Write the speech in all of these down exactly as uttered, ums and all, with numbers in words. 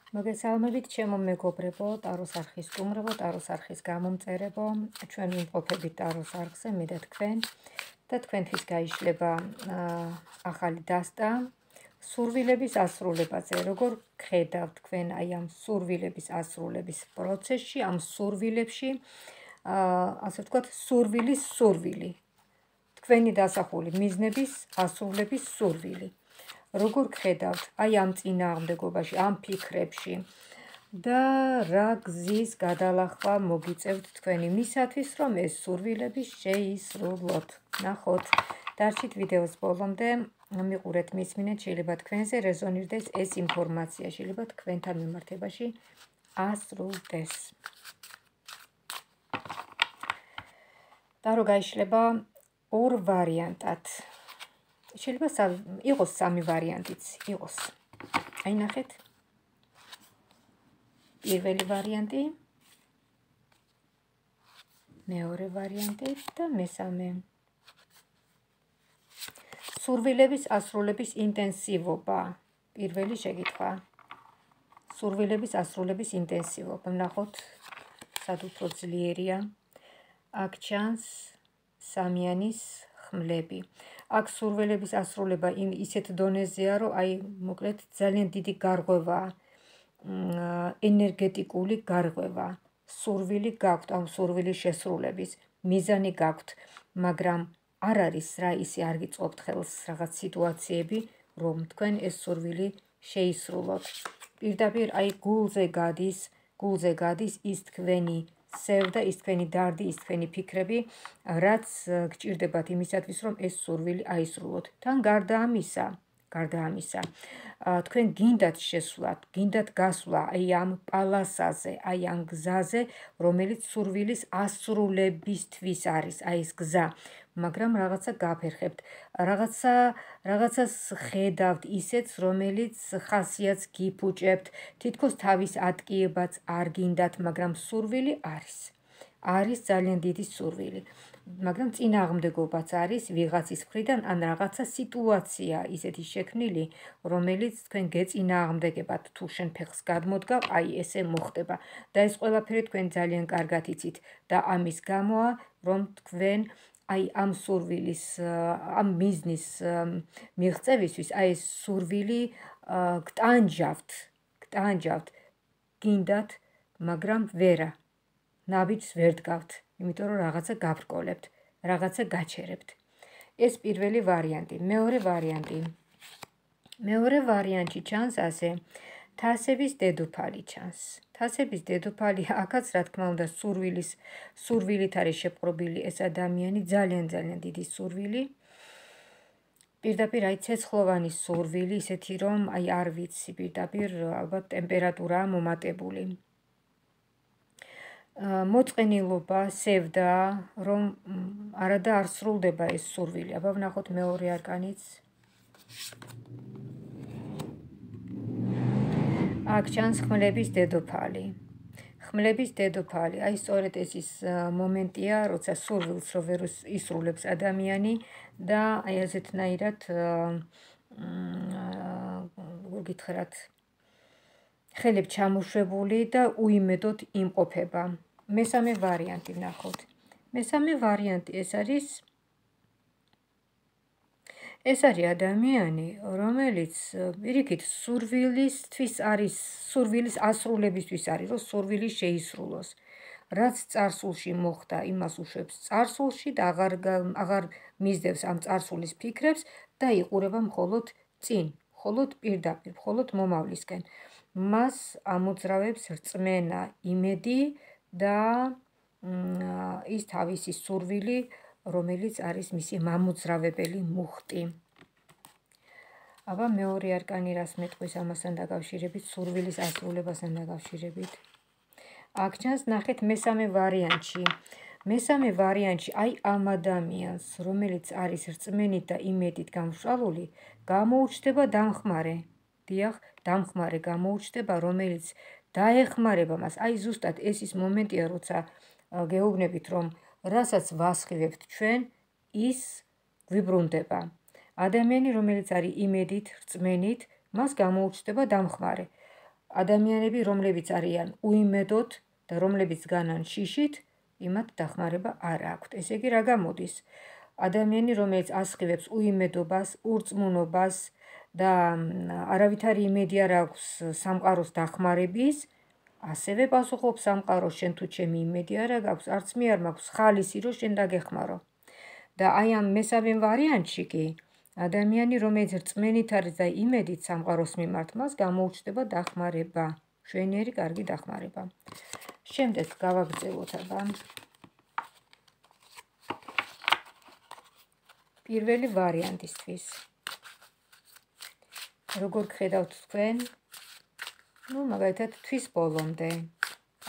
მოგესალმებით ჩემო მეგობრებო, ტაროს არხის სტუმრებო, ტაროს არხის გამომწერებო, ჩვენ ვიმყოფებით ტაროს არხზე, მე და თქვენ და თქვენთვის გაიშლება ახალი დასტა სურვილების ასრულებაზე. როგორ გხედავთ თქვენ აი ამ სურვილების ასრულების პროცესში, ამ სურვილებში, ასე ვთქვათ, სურვილის სურვილი. თქვენი დასახული მიზნების ასრულების სურვილი. როგორ გხედავთ აი ამ წინააღმდეგობაში, ამ ფიქრებში და რა გზის გადალახვა მოგიწევთ თქვენ იმისათვის, რომ ეს სურვილები შეისრულოთ. ნახოთ, დარჩით ვიდეოს ბოლომდე, მიყურეთ, მისმინეთ, შეიძლება თქვენზე რეზონირდეს ეს ინფორმაცია, შეიძლება თქვენთან მიმართებაში ასრულდეს. ტარო გაიშლება ორ ვარიანტად. შეიძლება იყოს სამი ვარიანტიც, იყოს. აი ნახეთ. პირველი ვარიანტი, მეორე ვარიანტი და მესამე. სურვილების ასრულების ინტენსივობა. პირველი შეკითხვა. სურვილების ასრულების ინტენსივობა. ნახოთ, სად უფრო ძლიერია. აქ ჩანს სამიანის ხმლები. აქ სურვილების ასრულება იმ ისეთ დონეზეა, რომ აი მოკლედ ძალიან დიდი გარღვევაა, ენერგეტიკული გარღვევა. სურვილი გაქვთ, ამ სურვილის შესრულების მიზანი გაქვთ, მაგრამ არ არის რა ისე არ გიწყობთ ხელს რაღაც სიტუაციები, რომ თქვენ ეს სურვილი შეისრულოთ. პირდაპირ აი გულზე გადის, გულზე გადის ის თქვენი სევდა, ის თქვენი დარდი, ის თქვენი ფიქრები, რაც გჭირდებათ იმისათვის, რომ ეს სურვილი აისრულოთ. თან გარდა ამისა, გარდა ამისა, თქვენ გინდათ შესვლათ, გინდათ გასვლა აი ამ პალასაზე, აი ამ გზაზე, რომელიც სურვილის ასრულებისთვის არის, აი ეს გზა, მაგრამ რაღაცა გაფერხებთ, რაღაცა რაღაცას ხედავთ ისეთს, რომელიც ხასიათს გიფუჭებთ, თითქოს თავის ატკიებაც არ გინდათ, მაგრამ სურვილი არის. არის ძალიან დიდი სურვილი. მაგრამ წინააღმდეგობაც არის ვიღაცის მხრიდან, ან რაღაცა სიტუაცია ისეთი შექმნილი, რომელიც თქვენ გეწინააღმდეგებათ, თუ შენ ფეხს გადმოდგავ, აი ესე მოხდება. და ეს ყველაფერი თქვენ ძალიან კარგად იცით და ამის გამოა, რომ თქვენ აი ამ სურვილის, ამ მიზნის მიღწევისთვის, აი ეს სურვილი გტანჯავთ, გტანჯავთ, გინდათ, მაგრამ ვერა, ნაბიჯს ვერ დგავთ, იმიტომ რომ რაღაცა გაბრკოლებთ, რაღაცა გაჩერებთ. ეს პირველი ვარიანტი. მეორე ვარიანტი. მეორე ვარიანტი ჩანს ასე, თასების დედოფალი ჩანს. თასების დედოფალი, აქაც რა თქმა უნდა სურვილის, სურვილით არის შეპყრობილი ეს ადამიანი, ძალიან ძალიან დიდი სურვილი. პირდაპირ აი ცეცხლოვანი სურვილი, ისეთი რომ აი არ ვიცი, პირდაპირ ალბათ ტემპერატურაა მომატებული. მოწყენილობა, სევდა, რომ არადა არ სრულდება ეს სურვილი. აბა ვნახოთ მეორე არკანიც. აქ ჩანს ხმლების დედოფალი. ხმლების დედოფალი, აი სწორედ ეს ის მომენტია, როცა სურვილს რო ვერ ისრულებს ადამიანი და აი ასეთნაირად გითხრათ, ხელები ჩამოშვებული და უიმედოდ იმყოფება. მესამე ვარიანტი ვნახოთ. მესამე ვარიანტი ეს არის ეს არის ადამიანი, რომელიც პირიქით სურვილისთვის არის, სურვილის ასრულებისთვის არის, რომ სურვილი შეისრულოს. რაც წარსულში მოხდა, იმას უშვებს წარსულში და აღარ აღარ მისდევს ამ წარსულის ფიქრებს და იყურება მხოლოდ წინ, მხოლოდ პირდაპირ, მხოლოდ მომავლისკენ. მას ამოძრავებს რწმენა, იმედი და ის თავისი სურვილი, რომელიც არის მისი მამოძრავებელი მუხტი. აბა მეორე არკანი რას მეტყვის ამასთან დაკავშირებით, სურვილის ასრულებასთან დაკავშირებით. აქ ჩანს ნახეთ მესამე ვარიანტში. მესამე ვარიანტში აი ამ ადამიანს, რომელიც არის რწმენით და იმედით გამშვალული, გამოუჩნდება დამხმარე. დიახ, დამხმარე გამოუჩნდება, რომელიც დაეხმარება მას. აი ზუსტად ეს ის მომენტია, როცა გეუბნებით, რომ რასაც ვასხივებთ ჩვენ, ის გვიბრუნდება. ადამიანი, რომელიც არის იმედით, რწმენით, მას გამოუჩნდება დამხმარე. ადამიანები, რომლებიც არიან უიმედოდ და რომლებიც განან შიშით, იმათ დახმარება არ აქვთ. ესე იგი, რა გამოდის? ადამიანი, რომელიც ასხივებს უიმედობას, ურწმუნობას და არავითარი იმედი არ აქვს სამყაროს დახმარების, ასევე პასუხობს სამყაროს, შენ თუ ჩემი იმედი არ აქვს, არც მე არ მაქვს ხალისი, რომ შენ დაგეხმარო. და აი ამ მესამე ვარიანტში კი ადამიანი, რომელიც რწმენით არის და იმედით სამყაროს მიმართ, მას გამოუჩნდება დახმარება, მშვენიერი კარგი დახმარება. შემდეგ გავაგრძელოთ აბა. პირველი ვარიანტისთვის. როგორ გხედავთ თქვენ? ну, მაგალითად, თვის ბოლომდე,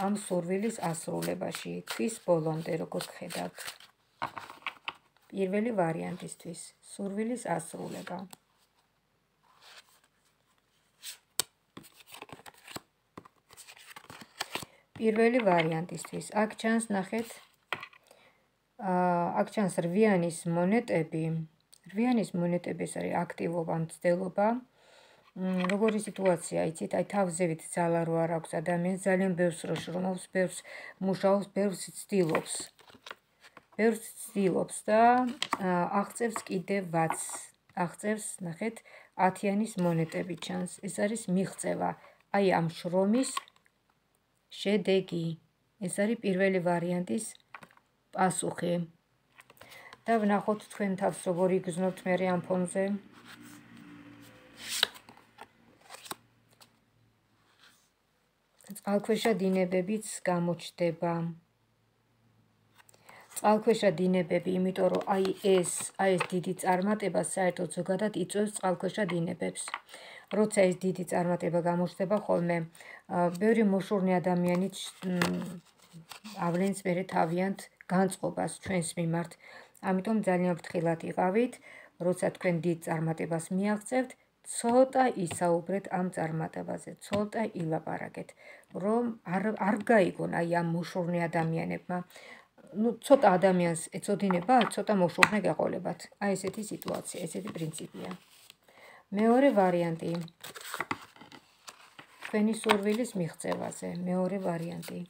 ამ სურვილის ასრულებაში, თვის ბოლომდე, როგორ გხედავთ? პირველი ვარიანტისთვის, სურვილის ასრულება. პირველი ვარიანტისთვის, აქ ჩანს, ნახეთ, აქ ჩანს რვიანის მონეტები, რვიანის მონეტები ეს არის აქტივობა, მცდელობა. როგორი სიტუაცია, იცით, აი თავზევით ძალა რო არ აქვს ადამიანს, ძალიან ბევრს რო შრომობს, ბევრს მუშაობს, ბევრს ცდილობს. ბევრს ცდილობს და აღწევს კიდევაც. აღწევს, ნახეთ, ათიანის მონეტები ჩანს. ეს არის მიღწევა. აი ამ შრომის შედეგი. ეს არის პირველი ვარიანტის პასუხი. და ვნახოთ თქვენ თავს როგორ იგრძნობთ მერე ამ ფონზე. წყალქვეშა დინებებიც გამოჩნდება. წყალქვეშა დინებები, იმიტომ რომ აი ეს, აი ეს დიდი წარმატება საერთოდ ზოგადად იწვევს წყალქვეშა დინებებს. როცა ეს დიდი წარმატება გამოჩნდება ხოლმე, ბევრი მოშურნე ადამიანიც ავლენს მერე თავიანთ განწყობას ჩვენს მიმართ. ამიტომ ძალიან ფრთხილად იყავით, როცა თქვენ დიდ წარმატებას მიაღწევთ, ცოტა ისაუბრეთ ამ წარმატებაზე, ცოტა ილაპარაკეთ, რომ არ არ გაიგონ აი ამ მოშურნე ადამიანებმა. ну, ცოტა ადამიანს ეწოდინება, ცოტა მოშურნე გაყოლებათ. აი ესეთი სიტუაცია, ესეთი პრინციპია. მეორე ვარიანტი. თქვენი სურვილის მიღწევაზე, მეორე ვარიანტი.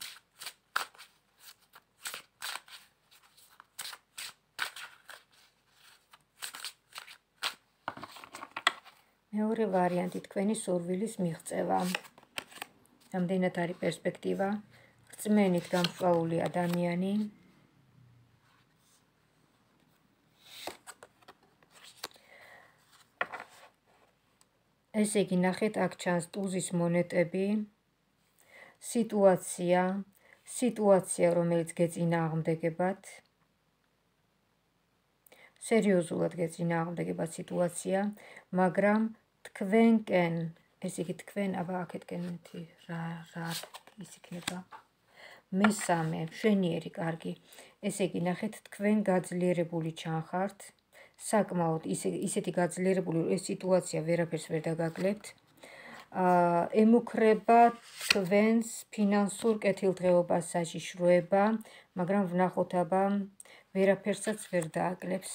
მეორე ვარიანტი, თქვენი სურვილის მიღწევა. რამდენად არის პერსპექტივა? რწმენით გამსწავლული ადამიანი. ესე იგი, ნახეთ, აქ ჩანს ტუზის მონეტები. სიტუაცია, სიტუაცია, რომელიც გეწინააღმდეგებათ. სერიოზულად გეწინააღმდეგებათ სიტუაცია, მაგრამ თქვენკენ, ესე იგი, თქვენ, აბა აქეთკენ რა რა ის იქნება. მესამე, მშვენიერი კარგი. ესე იგი, ნახეთ, თქვენ გაძლიერებული ჩანხართ. საკმაოდ ისეთი გაძლიერებული, რომ ეს სიტუაცია ვერაფერს ვერ დაგაკლებთ. ემუქრება თქვენს ფინანსურ კეთილდღეობას, საშიშროება, მაგრამ ვნახოთ აბა ვერაფერსაც ვერ დააკლებს.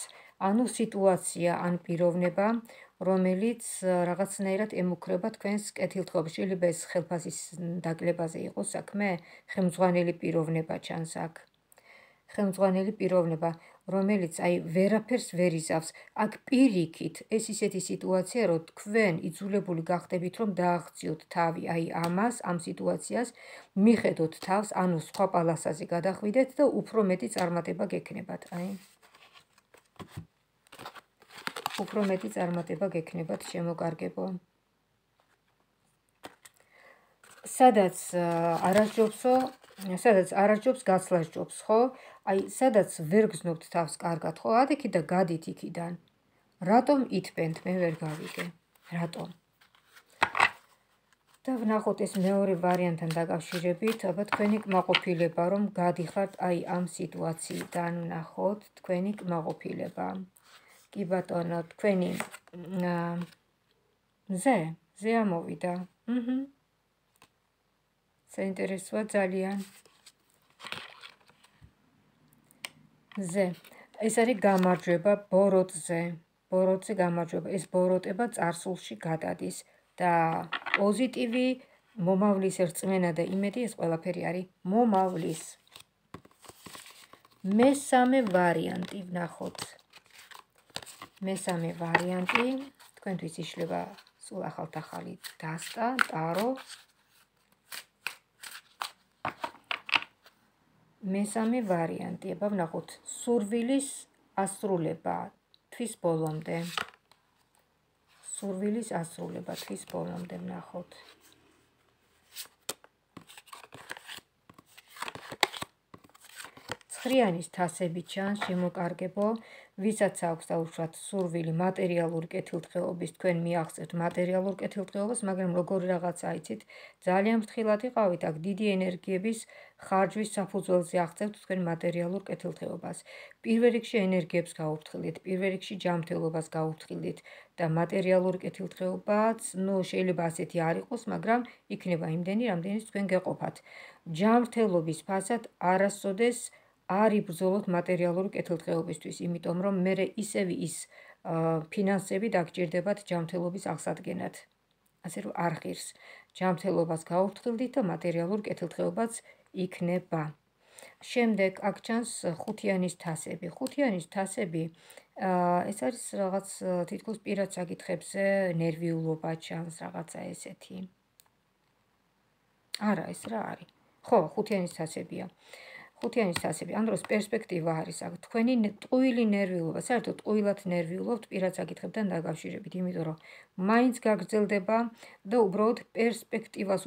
ანუ სიტუაცია, ან პიროვნება, რომელიც რაღაცნაირად ემუქრება თქვენს კეთილდღეობას. შეიძლება ეს ხელფასის დაკლებაზე იყოს საქმე, ხელმძღვანელი პიროვნება ჩანს აქ. ხელმძღვანელი პიროვნება, რომელიც აი ვერაფერს ვერ იზავს. აქ პირიქით ეს ისეთი სიტუაცია, რომ თქვენ იძულებული გახდებით, რომ დააღწიოთ თავი აი ამას, ამ სიტუაციას, მიხედოთ თავს, ანუ სხვა პალასაზე გადახვიდეთ და უფრო მეტი წარმატება გექნებათ. აი უფრო მეტი წარმატება გექნებათ, შემოკარგებო. სადაც არასჯობსო, სადაც არასჯობს, გაცლა სჯობს, ხო? აი, სადაც ვერ გზნობთ თავს კარგად, ხო? ადიქით და გადით იქიდან. რატომ ითბენთ, მე ვერ გავიგე. რატომ? და ვნახოთ ეს მეორე ვარიანტთან დაკავშირებით, აბა თქვენი კმაყოფილება, რომ გადიხართ აი ამ სიტუაციიდან, ვნახოთ თქვენი კმაყოფილება. კი ბატონო, თქვენი მზე, მზე ამოვიდა. აჰა. საინტერესოა ძალიან. მზე. ეს არის გამარჯვება ბოროტზე. ბოროტზე გამარჯვება. ეს ბოროტება წარსულში გადადის და პოზიტივი მომავლის რწმენა და იმედი ეს ყველაფერი არის მომავლის. მესამე ვარიანტი ვნახოთ. მესამე ვარიანტი თქვენთვის იშლება სულ ახალ-ახალი დასტა, ტარო. მესამე ვარიანტი, აბა ვნახოთ, სურვილის ასრულება თვის ბოლომდე. სურვილის ასრულება თვის ბოლომდე ვნახოთ. ცხრიანის თასები ჩანს, შემოკარგებო, ვისაც აქვს დაუშვათ სურვილი მატერიალური კეთილდღეობის, თქვენ მიაღწევთ მატერიალურ კეთილდღეობას, მაგრამ როგორი რაღაცა იცით, ძალიან ფრთხილად იყავით, აქ დიდი ენერგიების ხარჯვის საფუძველზე აღწევთ თქვენ მატერიალურ კეთილდღეობას. პირველ რიგში ენერგიებს გაუფრთხილდით, პირველ რიგში ჯანმრთელობას გაუფრთხილდით და მატერიალური კეთილდღეობაც, ნუ შეიძლება ასეთი არ იყოს, მაგრამ იქნება იმდენი, რამდენიც თქვენ გეყოფათ. ჯანმრთელობის ფასად არასოდეს არ იბრძოლოთ მატერიალური კეთილდღეობისთვის, იმიტომ რომ მერე ისევ ის ფინანსები დაგჭირდებათ ჯანმრთელობის აღსადგენად. ასე რომ არ ღირს. ჯანმრთელობას გაუფრთხილდით და მატერიალურ კეთილდღეობაც იქნება. შემდეგ აქ ჩანს ხუთიანის თასები. ხუთიანის თასები ეს არის რაღაც თითქოს პირად საკითხებზე ნერვიულობა ჩანს, რაღაცა ესეთი. არა, ეს რა არის? ხო, ხუთიანის თასებია. ხუთიანის თასები, ამ დროს პერსპექტივა არის აქ. თქვენი ტყუილი ნერვიულობა, საერთოდ ტყუილად ნერვიულობთ პირად საკითხებთან დაკავშირებით, იმიტომ რომ მაინც გაგრძელდება და უბრალოდ პერსპექტივას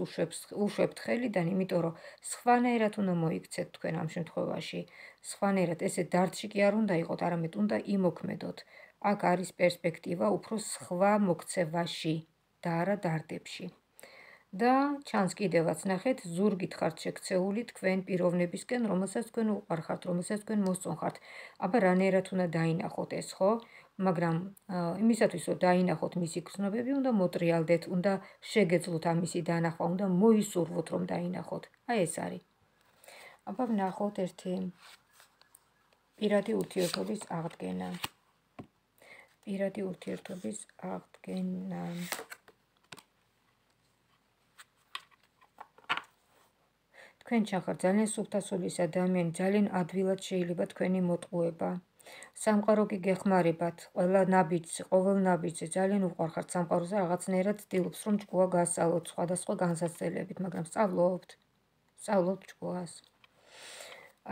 უშვებთ ხელიდან, იმიტომ რომ სხვანაირად უნდა მოიქცეთ თქვენ ამ შემთხვევაში. სხვანაირად ესე დარდში კი არ უნდა იყოთ, არამედ უნდა იმოქმედოთ. აქ არის პერსპექტივა უფრო სხვა მოქცევაში და არა დარდებში. და ჩანს კიდევაც ნახეთ, ზურგით ხართ შექცეული თქვენ პიროვნებისკენ, რომელსაც თქვენ უყვარხართ, რომელსაც თქვენ მოსწონხართ. აბა რანაირად უნდა დაინახოთ ეს, ხო? მაგრამ იმისათვის რომ დაინახოთ მისი გრძნობები, უნდა მოტრიალდეთ, უნდა შეგეძლოთ ამისი დანახვა, უნდა მოისურვოთ რომ დაინახოთ. აი ეს არის. აბა ვნახოთ ერთი პირადი ურთიერთობის აღდგენა. პირადი ურთიერთობის აღდგენა. თქვენ ჩახართ ძალიან სუფთასულის ადამიანი, ძალიან ადვილად შეიძლება თქვენი მოტყუება. სამყარო კი გეხმარებათ, ყველა ნაბიჯზე, ყოველ ნაბიჯზე ძალიან უყვარხართ სამყაროზე, რაღაცნაირად ცდილობს რომ ჭკუა გასწავლოთ სხვადასხვა განსაცდელებით, მაგრამ სწავლობთ. სწავლობთ ჭკუას.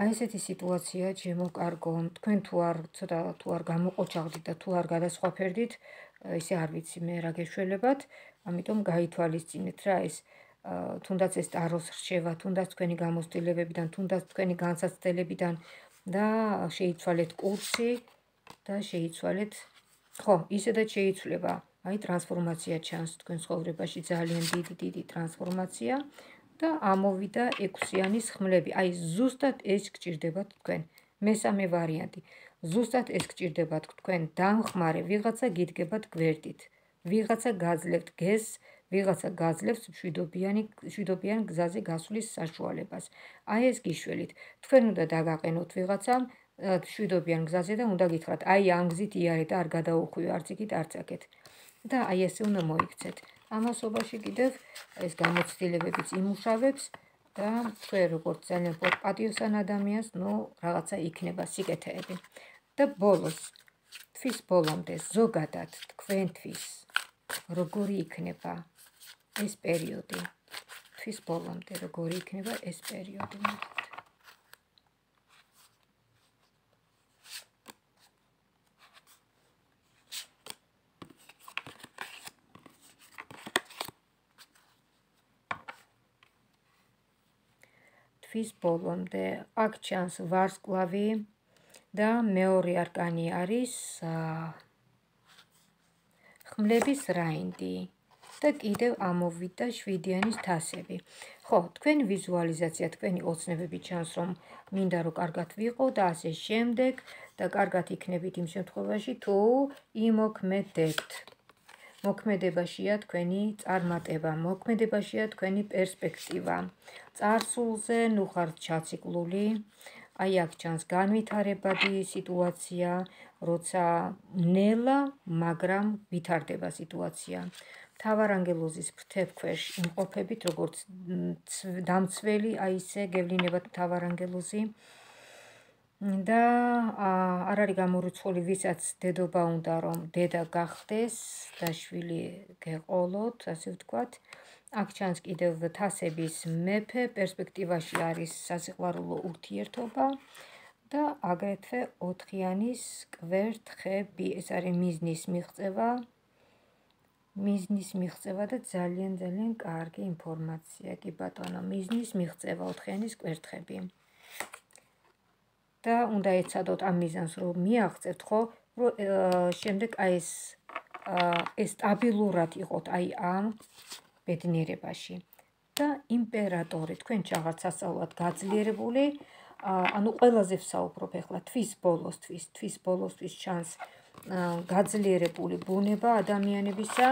აი ესეთი სიტუაცია ჩემო კარგო, თქვენ თუ არ ცოტა თუ არ გამოყოჩაღდით და თუ არ გადასხვაფერდით, ისე არ ვიცი მე რა გეშველებათ, ამიტომ გაითვალისწინეთ რა ეს თუნდაც ეს ტაროს რჩევა, თუნდაც თქვენი გამოცდილებებიდან, თუნდაც თქვენი განსაცდელებიდან და შეიცვალეთ კურსი და შეიცვალეთ, ხო, ისედაც შეიცვლება. აი ტრანსფორმაცია ჩანს თქვენ ცხოვრებაში, ძალიან დიდი დიდი ტრანსფორმაცია და ამოვიდა ექვსიანის ხმლები. აი ზუსტად ეს გჭირდებათ თქვენ. მესამე ვარიანტი. ზუსტად ეს გჭირდებათ თქვენ. დამხმარე ვიღაცა გიდგებათ გვერდით. ვიღაცა გაძლევთ გეზს, ვიღაცა გაძლევს მშვიდობიანი მშვიდობიან გზაზე გასვლის საშუალებას. აი ეს გიშველით. თქვენ უნდა დაგაყენოთ ვიღაცამ მშვიდობიან გზაზე და უნდა გითხრათ, აი ამ გზით იარე და არ გადაუხვიო არც იქით, არც აქეთ. და აი ესე უნდა მოიქცეთ. ამასობაში კიდევ ეს გამოცდილებებიც იმუშავებს და თქვენ როგორც ძალიან პატიოსან ადამიანს, ნუ რაღაცა იქნება სიკეთეები. და ბოლოს, თვის ბოლომდე ზოგადად თქვენთვის როგორი იქნება ეს პერიოდი? თვის ბოლომდე როგორი იქნება ეს პერიოდი? თვის ბოლომდე აქ ჩანს ვარსკვლავი და მეორე არკანი არის ხმლების რაინდი და კიდევ ამოვიდა შვიდიანის თასები. ხო, თქვენი ვიზუალიზაცია, თქვენი ოცნებები ჩანს, რომ მინდა რომ კარგად ვიყო და ასე შემდეგ და კარგად იქნებით იმ შემთხვევაში, თუ იმოქმედებთ. მოქმედებაშია თქვენი წარმატება, მოქმედებაშია თქვენი პერსპექტივა. წარსულზე ნუ ხართ ჩაციკლული, აი აქ ჩანს განვითარებადი სიტუაცია, როცა ნელა, მაგრამ ვითარდება სიტუაცია. თავარანგელოზის ფრთებქვეშ იმყოფებით, როგორც დამცველი, აი ისე გევლინებათ თავარანგელოზი და არ არის გამორიცხული, ვისაც დედობა უნდა, რომ დედა გახდეს და შვილი გეყოლოთ, ასე ვთქვათ. აქ ჩანს კიდევ თასების მეფე, პერსპექტივაში არის სასიყვარულო ურთიერთობა და აგრეთვე ოთხიანის კვერთხები, ეს არის მიზნის მიღწევა. მიზნის მიღწევა და ძალიან ძალიან კარგი ინფორმაცია, კი ბატონო, მიზნის მიღწევა, ოთხიანის კვერთხები. და უნდა ეცადოთ ამ მიზანს, რომ მიაღწევთ, ხო, რომ შემდეგ აი ეს ეს სტაბილურად იყოთ აი ამ ბედნიერებაში. და იმპერატორი, თქვენ ჩაღართ სასწაულად გაძლიერებული, ანუ ყველაზე ვსაუბრობ ახლა თვის ბოლოსთვის, თვის ბოლოსთვის ჩანს გაძლიერებული ბუნება ადამიანებისა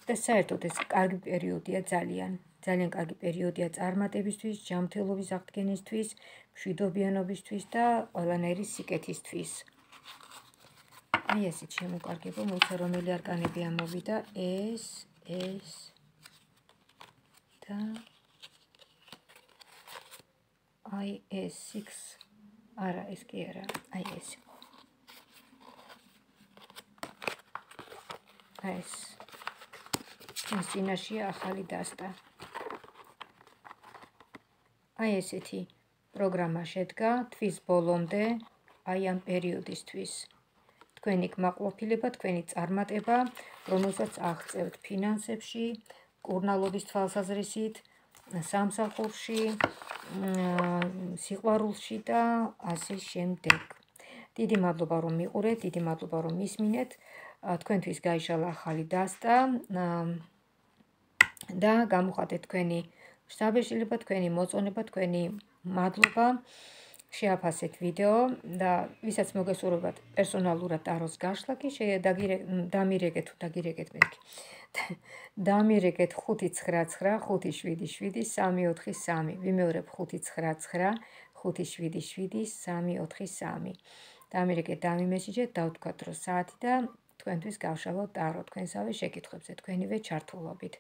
და საერთოდ ეს კარგი პერიოდია ძალიან, ძალიან კარგი პერიოდია წარმატებისთვის, ჯანმრთელობის აღდგენისთვის, მშვიდობიანობისთვის და ყველანაირი სიკეთისთვის. აი ესეც შემოკარგება, მოიცა რომელი არკანები ამოვიდა, ეს, ეს და აი ეს six, არა, ეს კი არა, აი ეს. აი ეს. ეს წინაშია ახალი დასტა. აი ესეთი პროგრამა შედგა თვის ბოლომდე, აი ამ პერიოდისთვის. თქვენი კმაყოფილება, თქვენი წარმატება, რომელსაც აღწევთ ფინანსებში, კურნალობის თვალსაზრისით, სამსახურში, სიყვარულში და ასე შემდეგ. დიდი მადლობა რომ მიყურეთ, დიდი მადლობა რომ მისმინეთ. თქვენთვის გაიშალა ახალი დასტა და გამოხატეთ თქვენი შთაბეჭდილება, თქვენი მოწონება, თქვენი მადლობა. შეაფასეთ ვიდეო და ვისაც მოგესურვებათ პერსონალურად ტაროს გაშლა კი დამირეკეთ თუ დაგირეკეთ მეთქი. დამირეკეთ ხუთი ცხრა ცხრა ხუთი შვიდი შვიდი სამი ოთხი სამი. ვიმეორებ ხუთი ცხრა ცხრა ხუთი შვიდი შვიდი სამი ოთხი სამი. დამირეკეთ, დამიმესიჯეთ, დავთქვათ რომ საათი და თქვენთვის გავშალოთ ტარო თქვენსავე შეკითხვებზე, თქვენივე ჩართულობით.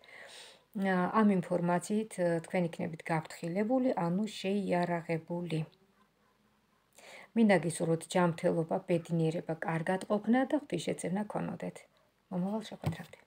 ამ ინფორმაციით თქვენ იქნებით გაფრთხილებული, ანუ შეიარაღებული. მინდა გისურვოთ ჯანმრთელობა, ბედნიერება, კარგად ყოფნა და ღვთისშეწირნა გქონოდეთ. მომავალ შეხვედრამდე.